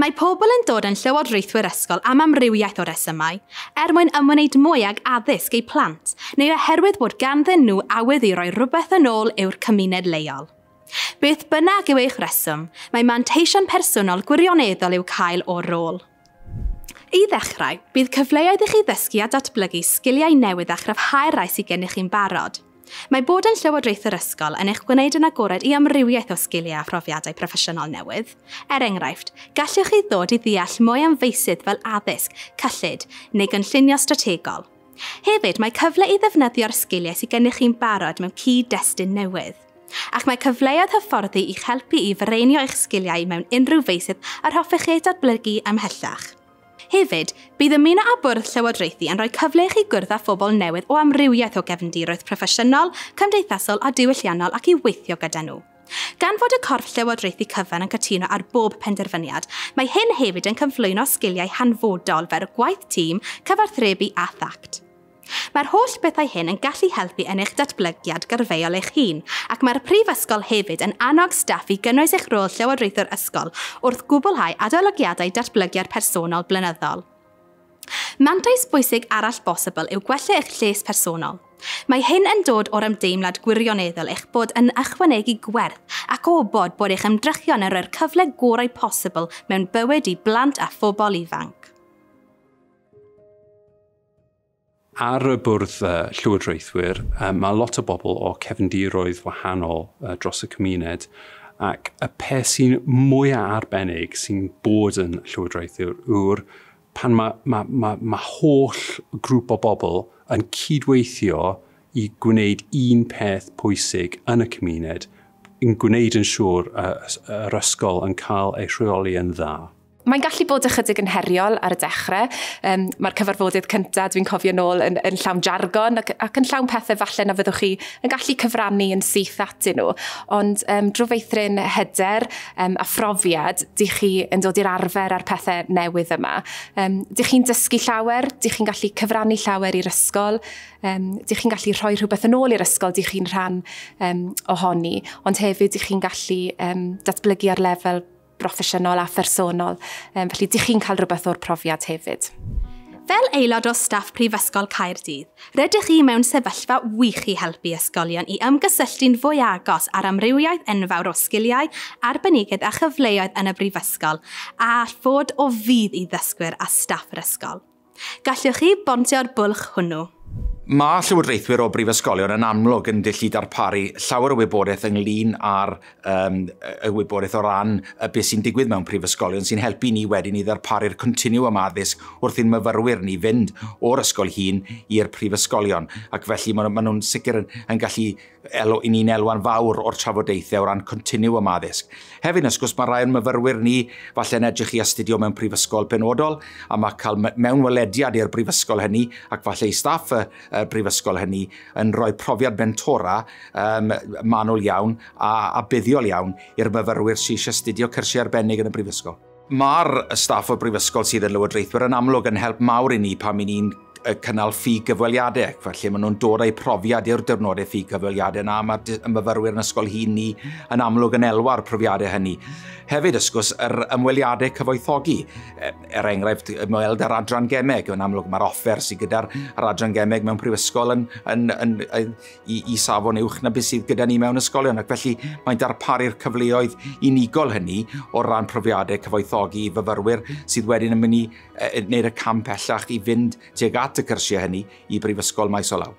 Mae pobl yn dod yn llywodraethwyr ysgol am amrywiaeth o resymau, er mwyn ymwneud mwy ag addysg eu plant, neu oherwydd bod ganddyn nhw awydd i roi rhywbeth yn ôl i'w cymuned leol. Beth bynnag yw eich reswm, mae manteision personol gwirioneddol i'w cael o'r rôl. I ddechrau, bydd cyfleoedd i chi ddysgu a datblygu sgiliau newydd a chryfhau'r rhai sydd gennych chi'n barod. Mae bod yn llywodraethwr ysgol yn eich gwneud yn agored i amrywiaeth o sgiliau a phrofiadau proffesiynol newydd. Er enghraifft, gallwch chi ddod i ddeall mwy am feysydd fel addysg, cyllid neu gynllunio strategol. Hefyd, mae cyfle i ddefnyddio'r sgiliau sydd gennych chi'n barod mewn cyd-destun newydd. Ac mae cyfleoedd hyfforddi i'ch helpu i fireinio eich sgiliau mewn unrhyw feysydd yr hoffech chi eu datblygu ymhellach. Hefyd, bydd ymuno â bwrdd llywodraethu yn rhoi cyfle i chi gwrdd â phobl newydd o amrywiaeth o gefndiroedd proffesiynol, cymdeithasol a diwylliannol ac i weithio gyda nhw. Gan fod y corff llywodraethu cyfan yn cytuno ar bob penderfyniad, mae hyn hefyd yn cyflwyno sgiliau hanfodol fel gwaith tîm, cyfathrebu a thact. Mae'r holl bethau hyn yn gallu helpu yn eich datblygiad gyrfaol eich hun, ac mae'r Prifysgol hefyd yn annog staff i gynnwys eich rôl llywodraethwr ysgol wrth gwblhau adolygiadau datblygiad personol blynyddol. Mantais bwysig arall bosibl yw gwella eich lles personol. Mae hyn yn dod o'r ymdeimlad gwirioneddol eich bod yn ychwanegu gwerth ac o wybod bod eich ymdrechion yn rhoi'r cyfle gorau posibl mewn bywyd i blant a phobl ifanc. Ar y bwrdd llywodraethwyr, mae lot o bobl o cefndiroedd wahanol dros y cymuned, ac y peth sy'n mwyaf arbennig sy'n bod yn llywodraethwyr yw'r pan mae holl grŵp o bobl yn cydweithio i gwneud un peth pwysig yn y cymuned, yn gwneud yn siŵr yr ysgol yn cael ei rheoli yn dda. Mae'n gallu bod ychydig yn heriol ar y dechrau. Mae'r cyfarfodydd cyntaf, dwi'n cofio nôl, yn llawn jargon ac yn llawn pethau falle na fyddwch chi yn gallu cyfrannu yn syth atyn nhw. Ond drwy feithrin hyder a phrofiad, dych chi yn dod i'r arfer â'r pethau newydd yma. Dych chi'n dysgu llawer, dych chi'n gallu cyfrannu llawer i'r ysgol, dych chi'n gallu rhoi rhywbeth yn ôl i'r ysgol, dych chi'n rhan ohoni, ond hefyd dych chi'n gallu datblygu ar lefel broffesiynol a phersonol. Felly, dych chi'n cael rhywbeth o'r profiad hefyd. Fel aelod o staff Prifysgol Caerdydd, rydych chi mewn sefyllfa wych i helpu ysgolion i ymgysylltu'n fwy agos ar amrywiaeth enfawr o sgiliau, arbenigedd a chyfleoedd yn y brifysgol, a all fod o fudd i ddysgwyr a staff yr ysgol. Gallwch chi bontio'r bwlch hwnnw. Mae llywodraethwyr o brifysgolion yn amlwg yn gallu darparu llawer o wybodaeth ynglyn â'r y wybodaeth o ran y beth sy'n digwydd mewn prifysgolion sy'n helpu ni wedyn i ddarparu'r continwwm addysg wrth i'n myfyrwyr ni fynd o'r ysgol hun i'r prifysgolion. Ac felly maen nhw'n sicr yn gallu i ni'n elwa'n fawr o'r trafodaethau o ran continwwm addysg. Hefyd, wrth gwrs, mae rai o'n myfyrwyr ni falle'n edrych i astudio mewn prifysgol penodol, a mae cael mewnwelediad i'r brifysgol hynny ac falle i staff y brifysgol hynny yn rhoi profiad mentora manwl iawn a buddiol iawn i'r myfyrwyr sydd eisiau astudio cyrsiau arbennig yn y brifysgol. Mae'r staff o'r brifysgol sydd yn lywodraethwyr yn amlwg yn help mawr i ni pan i ni'n cynnal ffug gyfweliadau. Felly maen nhw'n dod â'u profiad i'r diwrnodau ffug gyfweliadau yna, mae'r myfyrwyr yn ysgol hŷn ni yn amlwg yn elwa'r profiadau hynny. Hefyd, wrth gwrs, yr ymweliadau cyfoethogi. Er enghraifft, ymweld â'r adran gemeg. Yn amlwg mae'r offer sydd gyda'r adran gemeg mewn prifysgol i safon uwch na beth sydd gyda ni mewn ysgolion. Ac felly mae'n darparu'r cyfleoedd unigol hynny o ran profiadau cyfoethogi i fyfyrwyr sydd wedyn yn mynd i wneud y cam pellach i fynd tuag at y cyrsiau hynny i brifysgol maes o law.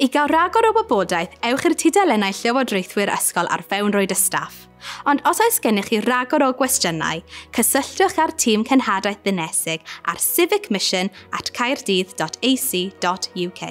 I gael rhagor o wybodaeth, ewch i'r tudalennau llywodraethwyr ysgol ar fewnrwyd y staff. Ond os oes gennych chi ragor o gwestiynau, cysylltwch â'r tîm cenhadaeth ddinesig ar civicmission@caerdydd.ac.uk.